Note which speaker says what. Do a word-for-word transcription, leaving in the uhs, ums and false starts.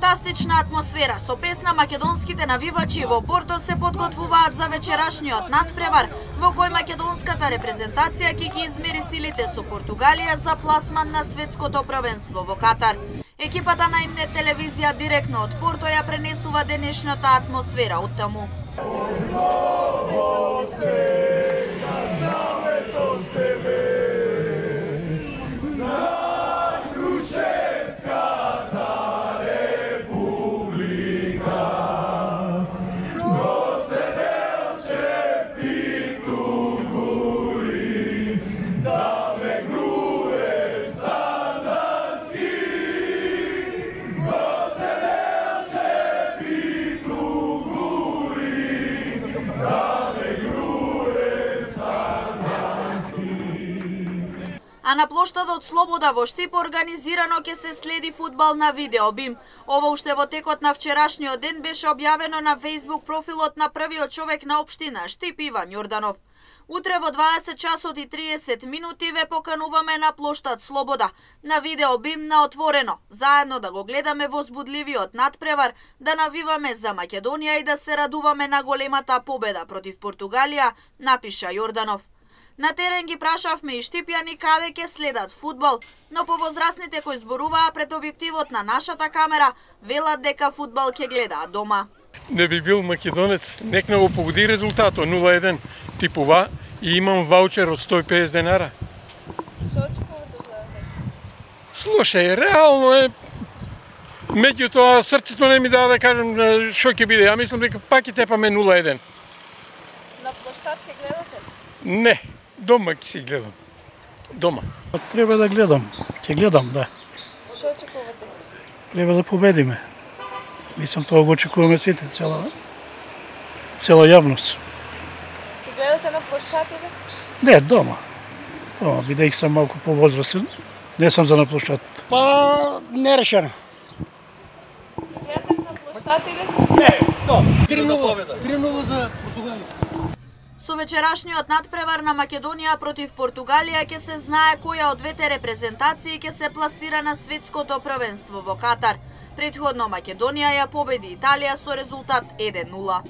Speaker 1: Фантастична атмосфера со песна македонските навивачи во Порто се подготвуваат за вечерашниот надпревар во кој македонската репрезентација ќе ги измери силите со Португалија за пласман на светското првенство во Катар. Екипата на Имнет телевизија директно од Порто ја пренесува денешната атмосфера од таму. А на плоштадот Слобода во Штип организирано ќе се следи фудбал на видео бим. Ова уште во текот на вчерашниот ден беше објавено на Facebook профилот на првиот човек на општина Штип Иван Јорданов. Утре во дваесет часот и триесет минути ве покануваме на плоштад Слобода, на видео бим на отворено, заедно да го гледаме возбудливиот надпревар, да навиваме за Македонија и да се радуваме на големата победа против Португалија, напиша Јорданов. На терен ги прашавме и штипјани каде ќе следат фудбал, но повозрастните кои зборуваа пред објективот на нашата камера, велат дека фудбал ќе гледаат дома.
Speaker 2: Не би бил македонец, нек не го погоди резултатот нула еден типова и имам ваучер од сто и педесет денара.
Speaker 3: Што очекувате за вечер?
Speaker 2: Слушај, реално е, меѓутоа срцето не ми дава да кажам што ќе биде. Ја мислам дека пак ќе тепаме нула еден.
Speaker 3: На плоштад ќе гледате?
Speaker 2: Не, дома ќе си гледам. Дома.
Speaker 4: Треба да гледам, ќе гледам, да.
Speaker 3: Што очекувате?
Speaker 4: Треба да победиме. Мислам, тоа го очекуваме сите, цела, цела јавност.
Speaker 3: Ќе гледате на плоштад или?
Speaker 4: Не, дома. Дома, бидејќи сам малку повозрасен, не сум за на плоштад.
Speaker 5: Па, не решено.
Speaker 3: Ќе гледате на плоштад или?
Speaker 5: Не, дома.
Speaker 4: три нула. три нула за Португалија.
Speaker 1: Со вечерашниот надпревар на Македонија против Португалија ќе се знае која од двете репрезентации ќе се пласира на светското првенство во Катар. Претходно Македонија ја победи Италија со резултат еден нула.